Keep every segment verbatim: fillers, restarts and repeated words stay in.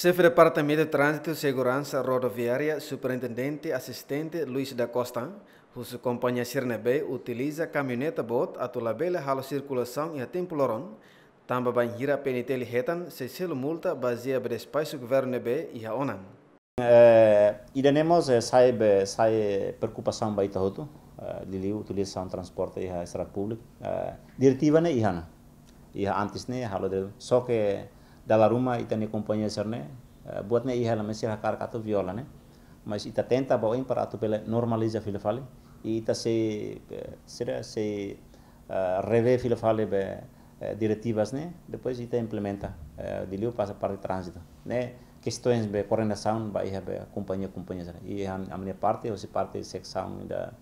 Xefe Departamentu Tránzitu Seguransa Rodoviária, Superintendente Asistente Luis da Costa, husu kompañia sira ne'ebé utiliza kamioneta boot atu labele halo sirkulasaun iha tempu loron, tanba bainhira P N T L hetan sei selu multa bazeia ba despaxu governu ne'ebé iha ona. Eh, ida-ne'e mós, eh, sai be, sai preokupasaun ba ita hotu, eh, liuliu utilizasaun transporte iha estrada públika. Eh, diretiva ne'e iha ona. Iha antes ne'e halo de, só ke dala ruma ita-nia kompañia sira ne'e, eh, buat ne'e iha la mesir hakar atu viola ne'e. Mas ita tenta ba oin para atu bele normaliza fila fali. I ita sei, eh, sira sei, eh, revee fila fali be, eh, diretivas ne'e, depois ita implementa, eh, liuliu pasa parte tránzitu. Ne'e, kestaun be koordenasaun ba iha be kompañia, kompañia sira. I ami-nia parte, hosi parte seksaun ida,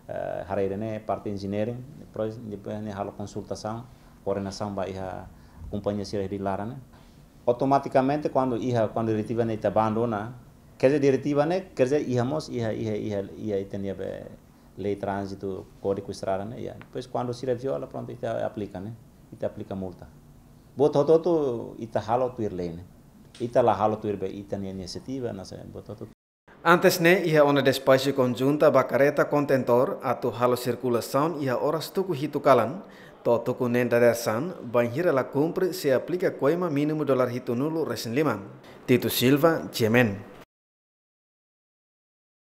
eh, haree ida-ne'e, parte engineering, depois, depois ne'e halo konsultasaun, koordenasaun ba iha kompañia sira di laran ne'e. Automatikamente, kuandu iha, kuandu diretiva ne'e ita abandona, quer dizer, diretiva ne'e, quer dizer, iha mós, iha, iha, iha, iha ita-nia be lei tránzitu, kódigu estrada ne'e, ya. Depois, kuandu sira viola, prontu, ita aplika ne'e, ita aplika multa. Buat hotu-hotu ita halo tuir lei ne'e. Ita la halo tuir be ita-nia inisiativa, nasa, buat hotu. Antes ne'e, iha ona despaxu konjunta ba kareta kontentór atu halo sirkulasaun iha oras tuku hitu kalan to'o tuku neen dadeer-saan, bainhira la kumpre sei aplika koima mínimu dolar hitunulu resin lima. Tito Silva, G M N.